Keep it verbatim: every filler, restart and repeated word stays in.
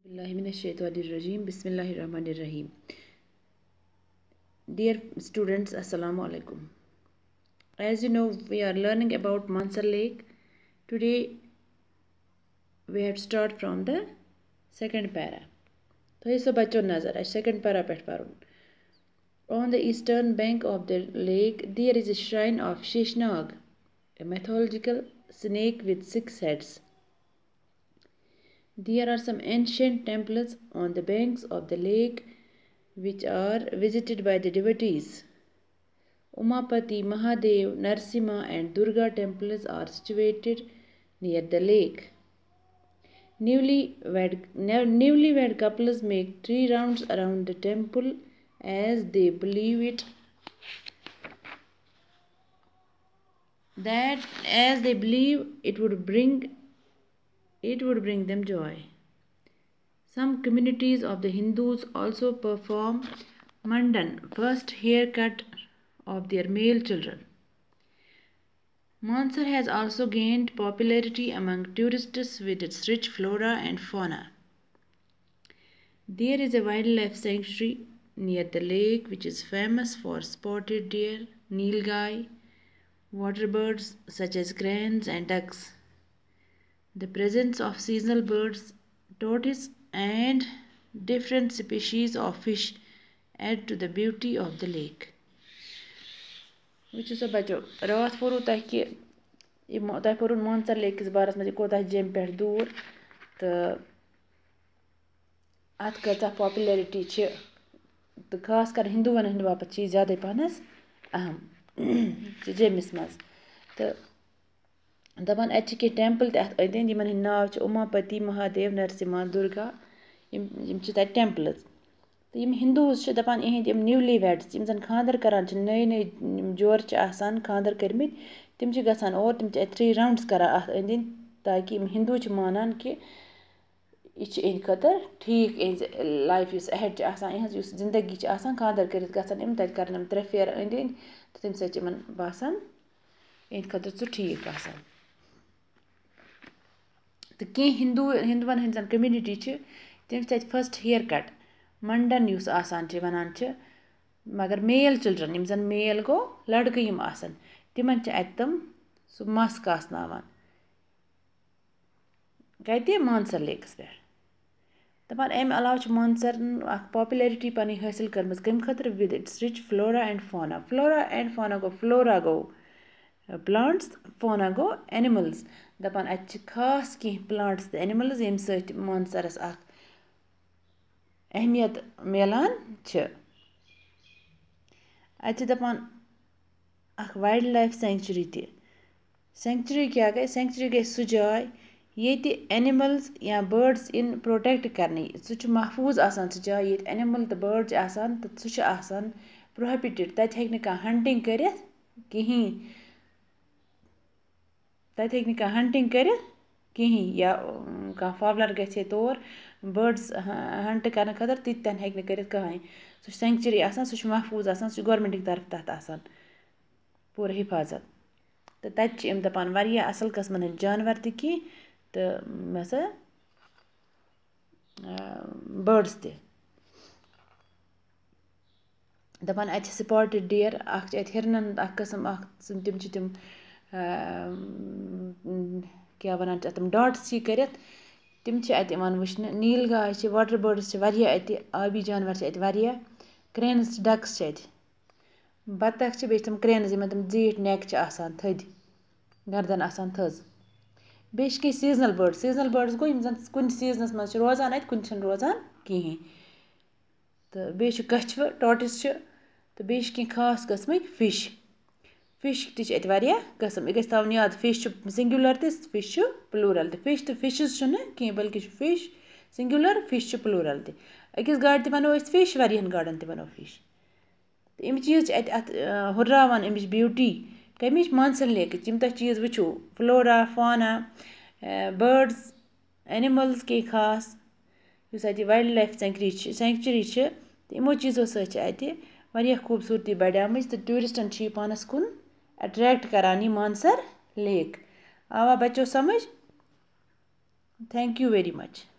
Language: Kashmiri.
باللہ من الشیطان الرجیم، بسم اللہ الرحمن الرحیم۔ Dear students, السلام علیکم۔ As you know, we are learning about Mansar Lake. Today, we have to start from the second para. تھٲیِو سا بَچو نظر، اَسہِ چھُ second para پٮ۪ٹھ پَرُن۔ On the eastern bank of the lake, there is a shrine of Sheshnag, a mythological snake with six heads. There are some ancient temples on the banks of the lake which are visited by the devotees. Umapati, Mahadev, Narsimha, and Durga temples are situated near the lake. Newlywed, ne- newlywed couples make three rounds around the temple as they believe it that as they believe it would bring it would bring them joy. Some communities of the Hindus also perform Mundan, first haircut of their male children. Mansar has also gained popularity among tourists with its rich flora and fauna. There is a wildlife sanctuary near the lake which is famous for spotted deer, nilgai, water birds such as cranes and ducks. The presence of seasonal birds, tortoise, and different species of fish add to the beauty of the lake. وٕچھِو سا بَچو، راتھ ووٚنوُ تۄہہِ کہِ یہِ مو- تۄہہِ پوٚرُن مانسر لیکَس بارَس منٛز، یہِ کوٗتاہ چھِ جیٚمہِ پٮ۪ٹھ دوٗر تہٕ اَتھ کۭژاہ popularity چھِ، تہٕ خاص کر ہِندوٗوَن ہٕنٛدِ باپَتھ چھِ یہِ زیادَے پَہنَس اَہَم چھِ جیٚمِس منٛز۔ تہٕ دَپان، اَتہِ چھِ کینٛہہ temple تہِ اَتھ أنٛدۍ أنٛدۍ، یِمَن ہٕنٛدۍ ناو چھِ اوماپتی، مہادیو، نرسِمہا، دُرگا۔ یِم یِم چھِ تَتہِ temples۔ تہٕ یِم Hindus چھِ دَپان، یِہِنٛدۍ یِم newly weds، یِم زَن خانٛدر کَران چھِ، نٔے نٔے یِم جورٕ چھِ آسان خانٛدر کٔرمٕتۍ، تِم چھِ گژھان اور، تِم چھِ اَتہِ three rounds کَران اَتھ أنٛدۍ أنٛدۍ، تاکہِ یِم Hindu چھِ مانان کہِ یہِ چھِ یِہِنٛدِ خٲطرٕ ٹھیٖک، یِہِنٛز life یُس ahead چھِ آسان، یِہٕنٛز یُس زِندگی چھِ آسان، خانٛدر کٔرِتھ گژھن یِم، تَتہِ کَرن یِم ترٛےٚ پھیرٕ أنٛدۍ أنٛدۍ، تہٕ تَمہِ سۭتۍ چھِ یِمَن باسان، یِہِنٛدِ خٲطرٕ سُہ ٹھیٖک آسان۔ تہٕ کینٛہہ ہِندوٗ، ہِندوٗوَن ہٕنٛز زَن community چھِ، تِم چھِ تَتہِ first haircut، منڈن یُس آسان چھِ، وَنان چھِ، مگر male children، یِم زَن male گوٚو، لٔڑکہٕ یِم آسَن، تِمَن چھِ اَتہِ تِم سُہ مَس کاسناوان۔ کَتہِ؟ مانسر لیکَس پٮ۪ٹھ۔ دَپان، اَمہِ علاوٕ چھِ مانسرَن اَکھ popularity پَنٕنۍ حٲصِل کٔرمٕژ۔ کَمہِ خٲطرٕ؟ With its rich flora and fauna. Flora and fauna گوٚو، flora گوٚو plants، fauna گوٚو animals۔ دَپان، اَتہِ چھِ خاص کینٛہہ plants تہٕ animals، ییٚمہِ سۭتۍ مانسرَس اَکھ اہمیت میلان چھِ۔ اَتہِ چھِ دَپان، اَکھ wildlife sanctuary تہِ۔ Sanctuary کیٛاہ گٔے؟ Sanctuary گٔے سُہ جاے، ییٚتہِ animals یا birds یِن protect کرنہٕ۔ سُہ چھُ محفوٗظ آسان، سُہ جاے، ییٚتہِ animal تہٕ bird چھِ آسان، تہٕ سُہ چھُ آسان prohibited۔ تَتہِ ہیٚکہِ نہٕ کانٛہہ hunting کٔرِتھ کِہیٖنۍ۔ تَتہِ ہیٚکہِ نہٕ کانٛہہ hunting کٔرِتھ کِہیٖنۍ، یا، اُم، کانٛہہ fowler گژھِ ہے تور، birds ہ-، hunt کرنہٕ خٲطرٕ، تِتہِ تہِ ہیٚکہِ نہٕ کٔرِتھ کٕہٕنۍ۔ سُہ چھُ sanctuary آسان، سُہ چھُ محفوٗظ آسان، سُہ چھُ government کہِ طرفہٕ تَتھ آسان پوٗرٕ حِفاظت۔ تہٕ تَتہِ چھِ یِم دَپان، واریاہ اَصٕل قٕسمَن ہٕنٛدۍ جانوَر تہِ کینٛہہ تہٕ، مےٚ سا، آ، birds تہِ۔ دَپان، اَتہِ چھِ spotted deer، اَکھ چھِ اَتہِ ہِرنَن ہُنٛد اَکھ قٕسٕم، اَکھ قٕسٕم، تِم چھِ تِم، آ، کیٛاہ وَنان چھِ اَتھ، تِم dots ہی کٔرِتھ، تِم چھِ اَتہِ یِوان وٕچھنہٕ۔ نیٖل گاے چھِ، water birds چھِ واریاہ اَتہِ، آبی جانوَر چھِ اَتہِ واریاہ، cranes چھِ، ducks چھِ اَتہِ، بطخ چھِ، بیٚیہِ چھِ تِم cranes، یِمَن تِم زیٖٹھۍ neck چھِ آسان تھٔدۍ، گردَن آسان تھٔز۔ بیٚیہِ چھِ کینٛہہ seasonal birds۔ Seasonal birds گوٚو، یِم زَن کُنہِ seasonَس منٛز چھِ روزان اَتہِ، کُنہِ چھِنہٕ روزان کِہیٖنۍ۔ تہٕ بیٚیہِ چھُ کَچھوٕ، tortoise چھِ، تہٕ بیٚیہِ چھِ کینٛہہ خاص قٕسمٕکۍ fish۔ Fish تہِ چھِ اَتہِ واریاہ قٕسٕم۔ یہِ گژھِ تھاوُن یاد، fish چھُ singular تہِ، fish چھُ plural تہِ۔ Fish تہٕ fishes چھُنہٕ کینٛہہ، بلکہِ چھُ fish singular، fish چھُ plural تہِ۔ أکِس گاڈِ تہِ وَنو أسۍ fish، واریاہَن گاڈَن تہِ وَنو fish۔ تہٕ یِم چیٖز چھِ اَتہِ اَتھ، آ، ہُرراوان اَمِچ beauty۔ کَمِچ؟ مانسر لیکٕچ۔ یِم تۄہہِ چیٖز وٕچھِو، flora، fauna، آ، birds، animals کینٛہہ خاص، یُس اَتہِ wildlife sanctuary چھِ، sanctuary چھِ، تہٕ یِمو چیٖزو سۭتۍ چھِ اَتہِ واریاہ خوٗبصوٗرتی بَڑیمٕژ تہٕ touristَن چھِ یہِ پانَس کُن attract کَران یہِ مانسر lake۔ آوا بَچو سَمٕجھ؟ Thank you very much.